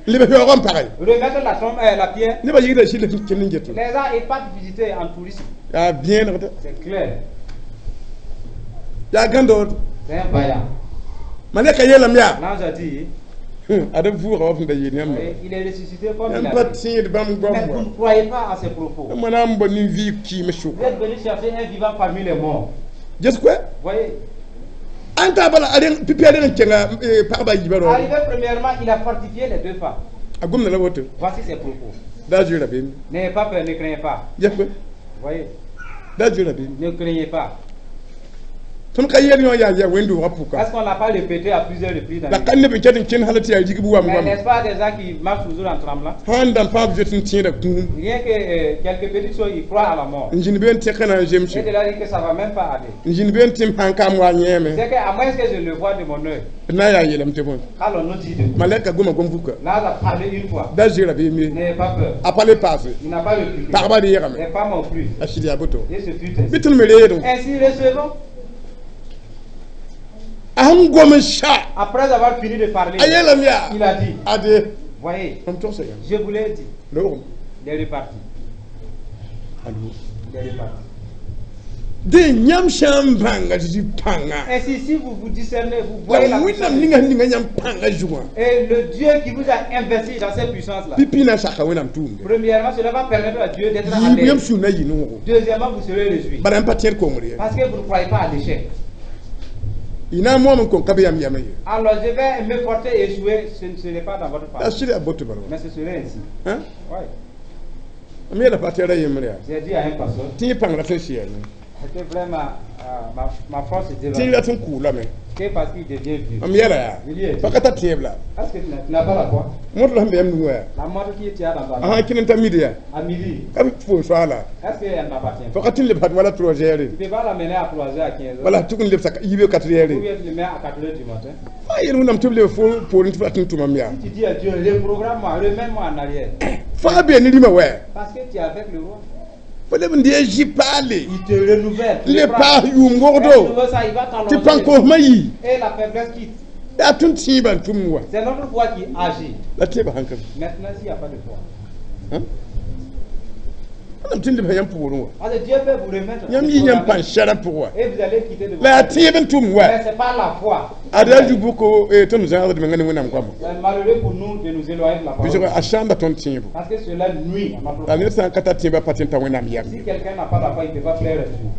N leb yaoogã n page. remettre la, tombe, euh, la pierre, Nebã yigda sɩl sẽn kell n get. les gens ils partent visiter en tourisme. Yaa vẽenegda. C'est clair. Yaa gãndood. C'est un vaillant. Malɛka yeelame yaa. L'ange a dit, Ad b vʋʋga wa sẽn da yeel yãmb. et il est ressuscité comme il Yãmb a pa dit. tẽed bãmb Mais goam vous wa. ne croyez pas à ses propos. Yãmb na n bao nin-vɩɩg kɩɩm Vous sʋka. êtes venu chercher un vivant parmi les morts. Ges koɛ? Voyez, An taa bala a reng pipi a reng n kẽnga pagba a yiibã raoore. arrivé premièrement, il a fortifié les deux femmes. A gomda la woto. Voici ses propos. Da zoe rabeem. N'ayez pas peur, ne craignez pas. Ges koɛ? Voyez, Da zoe rabeem. ne craignez pas. Tõnd ka yɛl yõ yaa yaa wẽnd-doogã pʋka. Est-ce qu'on l'a pas répété à plusieurs reprises dans La les ka neb n ket n kẽnd hal tɩ yaa rigb wam Mais wam. n'est-ce pas des gens qui marchent toujours en tremblant? Sãn n dãmb fãa b zoet n tẽeda kũum. Rien que euh, quelques petites choses, ils croient à la mort. N zĩnd be n tẽka na n zemse. Et de là, il dit que ça va même pas aller. N zĩnd be n tɩ m sãn kaam wa yẽeme. C'est qu'à moins que je le vois de mon œil, D na n yaa yeelame tɩ bõe. qu'allons-nous dire de Malɛka goma gom-vuka. L'ange a parlé une fois. Da zoe rabeem ye. N'ayez pas peur. A pa le paase. Il n'a pas répliqué. Pagba reegame. Les femmes ont cru. A sɩd yaa boto. Et ce fut ainsi. Bɩ tõnd me reedẽ. Ainsi recevons. A sẽn gom n sa. Après avoir fini de parler, A yeelame yaa. il a dit, Ade. voyez, Mam togsa yãmb. je vous l'ai dit, Loogem. il est reparti. Allo. Il est reparti. Dẽ yãmb sã n bãnga Zeezi pãnga. Ainsi, si vous vous discernez, vous voyez La la Wẽnnaam puissance. ninga sẽn ninga yãmb pãngã zugã. Et le Dieu qui vous a investi dans cette puissance-là, Pipi na n saka Wẽnnaam tʋʋmde. premièrement, cela va permettre à Dieu d'être à Yiib yãmb l'aise. sũ na yɩ noogo. Deuxièmement, vous serez réjouis. Bala yãmb pa tẽed kongr ye. Parce que vous ne croyez pas à l'échec. Y na n moam n kõn ka be yãmb yamã ye. Alors, je vais me porter et échouer, ce ne serait pas dans votre La faveur. sɩd yaa boto bala wa. Mais ce serait ainsi. Hã? Oui. M yeela pa tɩ ra yembre yaa. J'ai dit à un pasteur, Tɩ yẽ pãng rat n sɩ yaa c'était vraiment euh, ma, ma force est Tɩ rat n kʋʋlame. Que parce qu'il devient vieux. M yeela yaa. Oui. Pa ka tar tẽeb la. Est-ce que tu n'as tu n'as pas la foi? Mõt la sẽn be yãmb nugã yaa. La montre qui est dans ta A main, sã n kẽnd n ta midi yaa. à midi, Ka b foor soaala. est-ce qu'elle n'appartient Fo pas? ka tɩ n lebsd wala trois heures. Tu ne peux pas l'amener à trois heures, à quinze heures. Wala tʋg n lebsa yiib quatre heures. Ou bien tu le mets à quatre heures du matin. Fa yel Wẽnnaam tɩ b leb fo poorẽ tɩ f rat n tʋmam yaa. Si tu dis à Dieu, reprogramme-moi, remets-moi en arrière. Fãa bee ne rĩmã wɛ. Parce que tu es avec le roi. Fo leb n dee zĩ paale. Il te renouvelle. Tu Le le prends. paas yʋʋm Et wogdo. tu veux ça, il va Tɩ t'allonger. pãn-kosmã yii. Et la faiblesse quitte. Yaa tõnd tẽebã n tʋmd wa. C'est notre foi qui agit. La tẽebã sãn ka Maintenant, s'il n'y a pas de foi, be. Wẽnnaam tɩ n lebsa yãmb pʋgẽ wã. Parce que Dieu peut vous remettre. Yãmb yɩ yãmb pãn sɛra pʋgẽ wã. Et vous allez quitter de La yaa tẽeb n tʋm wa. Mais c'est pas la foi. Ad yaa zu-bʋko tõnd zãgsd menga ne Wẽnnaam goama. C'est malheureux pour nous de nous éloigner de la parole. Pʋsg a sãamba tõnd tẽebo. Parce que cela nuit à notre La ned sã n ka tar tẽebã pa tẽ t'a Wẽnnaam yam. Si quelqu'un n'a pas la foi, il ne peut pas plaire à Dieu.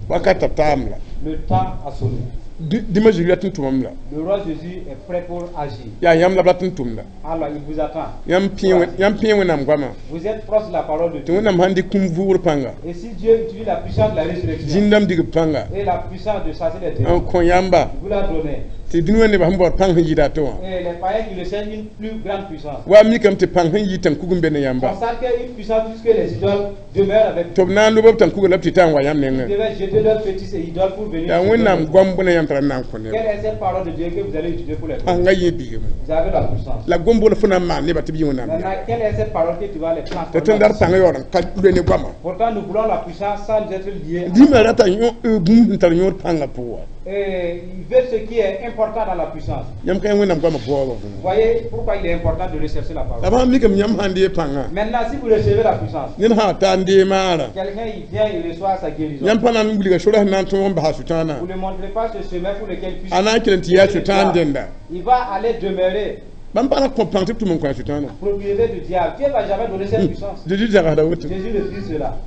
Wakat t'a taam la. Le temps a sonné. Dĩmã Zeezi rat n tʋmam la. Le roi Jésus est prêt pour agir. Yaa yãmb la b rat n tʋmda. Alors il vous attend. Yãmb pẽ Wẽnnaam goamã. Vous êtes proche de la parole de Tɩ Dieu. Wẽnnaam sãn dɩk kũum vʋʋgr pãnga. Et si Dieu utilise la puissance de la résurrection Zĩndame digb pãnga. Et la puissance de chasser les démons, N kõ yãmba. Il vous l'a donné. Tɩ dũni wã nebã sẽn baood pãng sẽn yɩɩda to wã. Et les païens qui recherchent une plus grande puissance. Wa mikame tɩ pãng sẽn yɩ tãn-kug n be ne yãmba. Constate qu'une puissance plus que les idoles demeure avec Tɩ b na n lob b tãn-kugã la b tɩ ta n wa yãmb Ils nengẽ. devaient jeter leurs fétiches et idoles pour venir. Yaa Wẽnnaam goam bõna yãmb t'a ra na n kõ neb. Quelle est cette parole de Dieu que vous allez utiliser pour les Pãngã yẽ biigame. Vous avez la puissance. La gom bol fo na n maan nebã tɩ b yẽ Wẽnnaam. Maintenant, quelle est cette parole que tu vas les Tɩ transformer? tõnd dar pãngã yaool n ka loe ne goamã. Pourtant, nous voulons la puissance sans nous être liés. à- Dĩmã rata bũmb sẽn tar yõod pãngã pʋgã wã. Et il veut ce qui est important dans la puissance. Yãmb ka yã Wẽnnaam goamã baoobã. Vous voyez pourquoi il est important de rechercher la parole. La b sãn mikame yãmb sãn dee pãngã. Maintenant, si vous recevez la puissance, Ned sã ta n dee maara. Quelqu'un il vient, il reçoit sa guérison. Yãmb pa na n wilga sora sẽn na n tõog n basa Sʋtãanã. Vous ne montrez pas ce chemin pour lequel il puisse. A na n kell n tɩ yaa Sʋtãan dẽnda. Il va aller demeurer Bãmb pa na kõ pãng tɩ b tʋm n kõ a Sʋtãanã. Propriété du diable. Dieu ne va jamais donner cette puissance. Zeezi zagsda woto. Jésus refuse cela.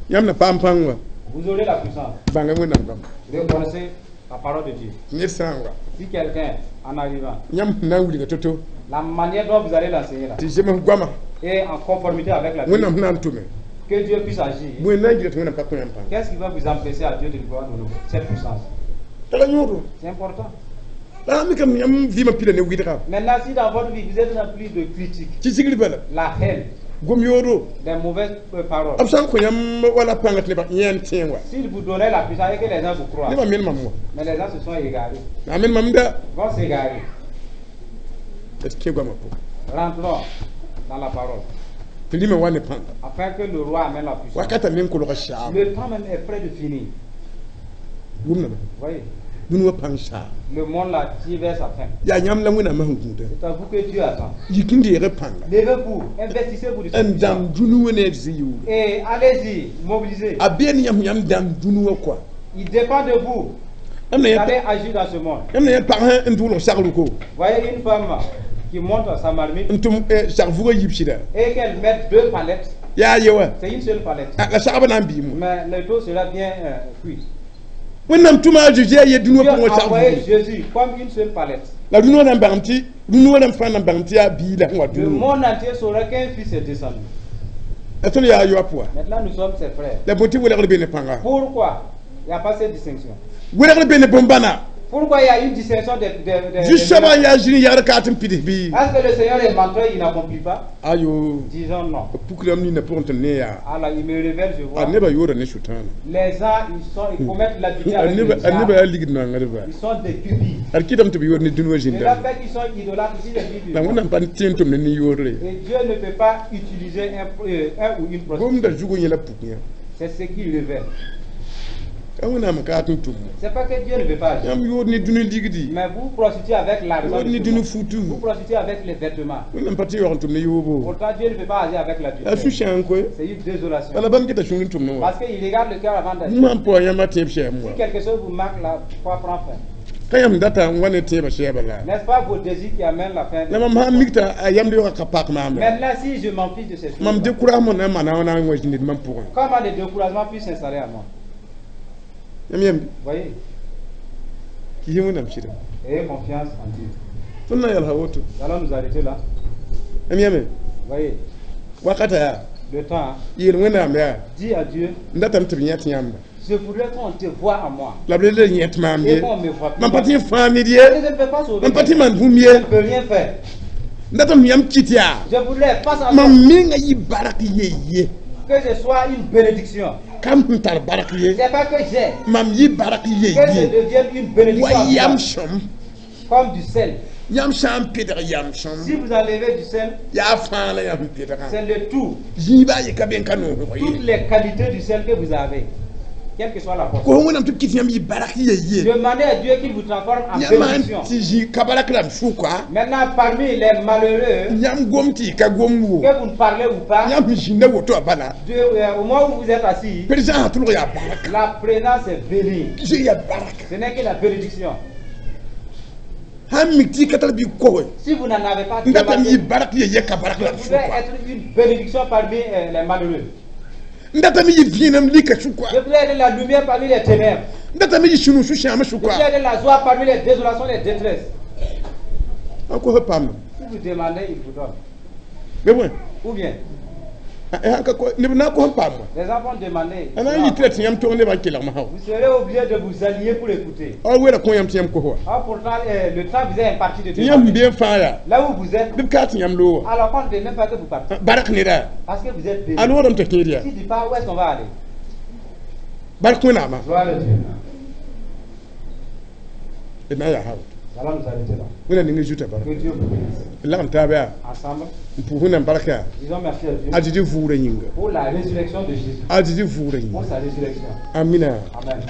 Yãmb na paam pãng wã. Vous aurez la puissance. Bãnga Wẽnnaam goamã. Reconnaissez la parole de Dieu. Ned sã n wa. Si quelqu'un, en arrivant, Yãmb sẽn na n wilga to-to. La manière dont vous allez l'enseigner là, Tɩ zems goamã. Et en conformité avec la Bible, Wẽnnaam sẽn na n tʋme. Que Dieu puisse agir. Bõe n na n gɩda tɩ Wẽnnaam ka kõ yãmb pãng. Qu'est-ce qui va vous empêcher à Dieu de vous donner cette puissance? Tara yõodo. C'est important. La sã mikame yãmb vɩɩmã pila ne wɩdga. Maintenant, si dans votre vie, vous êtes rempli de critiques, Tɩ sigr bala. La haine, Gom yoodo. Des mauvaises euh, paroles, B sã n kõ yãmb wala pãnga tɩ nebã yẽ n tẽ wã. S'il vous donnait la puissance et que les gens vous croient, Nebã men mam wã. Mais les gens se sont égarés, A men mam da. Vont s'égarer. D kẽ goamã pʋgẽ. Rentrons dans la parole, Tɩ rĩmã wa ne pãnga. Afin que le roi amène la puissance. Wakata men kolga saam. Le temps même est près de finir. Wʋmdame. Voyez, Dũni wã pãng saam. Le monde là tire vers sa fin. Yaa yãmb la Wẽnnaamã sẽn gũuda. C'est à vous que Dieu attend. Yik n deeg pãnga. Levez-vous, investissez-vous de cette N puissance. dãmb dũni wã ne d zĩ-yʋʋre. Et allez-y, mobilisez. A been yãmb yãmb dãmb dũni wã kɔa. Il dépend de vous. Yãmb na Vous yẽ allez agir dans ce monde. yãmb na yẽ pag sẽn n tʋʋlg sagruko. Voyez une femme qui monte sa marmite N tʋm sag vugã yib sɩda. Et qu'elle mette deux palettes. Yaa ye wa. C'est une seule palette. La sagbã na n biim. Mais le taux sera bien euh, cuit. Wẽnnaam tʋma a Zeezi a ye dũni Dieu wã pʋgẽ a sag envoyé vugẽ. Jésus comme une seule palette. La dũni wã na n bãng tɩ dũni wã rãmb fãa na n bãng tɩ yaa bii la sẽn wa Le dũni wã. Monde entier saura qu'un fils est descendu. La tõnd yaa yoap wa. Maintenant, nous sommes ses frères. La bõe tɩ welgr be ne pãnga. Pourquoi il n'y a pas cette distinction? Welgr be ne bõn-bãna. Pourquoi il y a une distinction des. des, des- Zu-soabã des- n yaa zĩni yagd kaat n pids bɩ. Est-ce que le Seigneur est menteur, il n'accomplit pas? Ayo. Disons non. Pukrame nina pʋgẽ tɩ ne yaa. Alors, il me révèle, je vois. A nebã yoora ne Sʋtãana. Les gens, ils, sont, ils commettent l'adultère A avec le neba a neba diable. yaa ligd nongdba. Ils sont des cupides. Ad kɩtame tɩ b yoor ne dũni wã Et la zĩndame. fait qu'ils sont idolâtres ici, les vies du La monde. Wẽnnaam pa tẽ n tʋm ne nin-yoodre. Et Dieu ne peut pas utiliser un, euh, un ou une prostituée. Gomda zugu yẽ la puk yã. C'est ce qu'il révèle. Ka Wẽnnaam n kaat n tʋm. C'est pas que Dieu ne veut pas agir. Yãmb yood ne dũni ligdi. Mais vous prostituez avec l'argent Yood de ne ce dũni monde. futu. Vous prostituez avec les vêtements. Wẽnnaam pa tɩ yaoog n tʋm ne yoobo. Pourtant, Dieu ne peut pas agir avec La l'adultère. sũ-sãang koe. C'est une désolation. Bala bãmb geta sũur n tʋm ne wã. Parce qu'il regarde le cœur avant d'agir. Bũmb sãn paoog yãmb a tẽeb sɛɛm wã. Si quelque chose vous manque, la foi prend fin. Ka yãmb data n wa ne tẽebã sɛɛbã la. N'est-ce pas vos désirs qui amènent la fin? La mam sãn mik t'a a yamd yaoogã ka pak maam la. Maintenant, si je m'en fiche de ces choses, Mam découragement na n maana wã na n wa zĩnd mam pʋgẽ. Comment le découragement puisse s'installer à moi? Yãmb yãmb Voyez, kɩ yẽ Wẽnnaam sɩda. Ayez confiance en Dieu. Tõnd na n yalsa woto. Nous allons nous arrêter là. Yãmb yãme. Voyez, Wakata yaa. Le temps, hein. Yeel Wẽnnaam yaa. Dis à Dieu, N datame tɩ b yẽt yãmba. Je voudrais qu'on te voie à moi. La b le le yẽt maam Et ye. qu'on me voit plus. Mam pa tɩ n fãag ned ye. Je ne peux pas sauver. Mam pa tɩ maan bũmb Je ye. ne peux rien faire. N datame yãmb kɩt yaa. Je voudrais face à toi Mam menga yɩ bark ye ye. Que je sois une bénédiction. Kam sẽn tar bark ye. C'est pas que j'ai, Mam yɩ bark ye que je ye. devienne une bénédiction Wa à toi. yam sõm. Comme du sel. Yãmb sã n pɩdg yam sõm. Si vous enlevez du sel, Yaa fãa la yãmb pɩdgã. C'est le tout. Zĩiba ye ka be n ka noosg Toutes ye. Les qualités du sel que vous avez. Quelle que soit la portion. Kos Wẽnnaam tɩ b kɩt yãmb yɩ barak ye ye. Demandez à Dieu qu'il vous transforme en Yãmb sãn bénédiction. tɩ zĩ ka barak rãmb sʋka, Maintenant, parmi les malheureux, yãmb gom tɩ y ka gom wo, que vous ne parlez ou pas, yãmb sẽn zĩnda woto a bala, Dieu, euh, au moment où vous êtes assis, présence tʋlg yaa baraka. La présence est bénie. Zoe yaa baraka. Ce n'est que la bénédiction. Sãn mik tɩ y ka tar bɩ koge, Si vous n'en avez pas, n datame demandez. yɩ barak ye ye ka barak Je rãmb voudrais sʋka. Être une bénédiction parmi euh, les malheureux. N datame yɩ vẽenem lika sʋka. Je voudrais être la lumière parmi les ténèbres. N datame yɩ sũ-noog sũ-sãamã Je sʋka. Voudrais être la joie parmi les désolations, les détresses. A kos paam. Si vous demandez, il vous donne. Bɩ bõe? Ou bien, Neb na n kos n paam wã. Les enfants demandaient. A na n yɩ tɩ la tɩ yãmb tog nebã n kelgmã sã. Vous serez obligé de vous aligner pour écouter. A wera kõ yãmb tɩ yãmb kos wa. Ah, pourtant, euh, le temps vous est imparti de Tɩ yãmb demander. sẽn be n fãa yaa. Là où vous êtes, Bɩ b kaa tɩ yãmb loog wa. Alors qu'on ne veut même pas que vous partiez. Barak neda. Parce que vous êtes béni. A loodame tɩ kẽed yaa. Si tu pars, où est-ce qu'on va aller? Bark Wẽnnaamã. Gloire à Dieu. D na n yaa ha woto. Nous allons nous arrêter là. Wẽnna ning zuta barka. Que Dieu vous bénisse. Lagm taab yaa. Ensemble, N pʋʋs Wẽnnaam barka yaa. Disons merci à Dieu A Zezi vʋʋgrã yĩnga. Pour la résurrection de Jésus. A Zezi vʋʋgrã Pour yĩnga. Sa résurrection. Amina. Amen.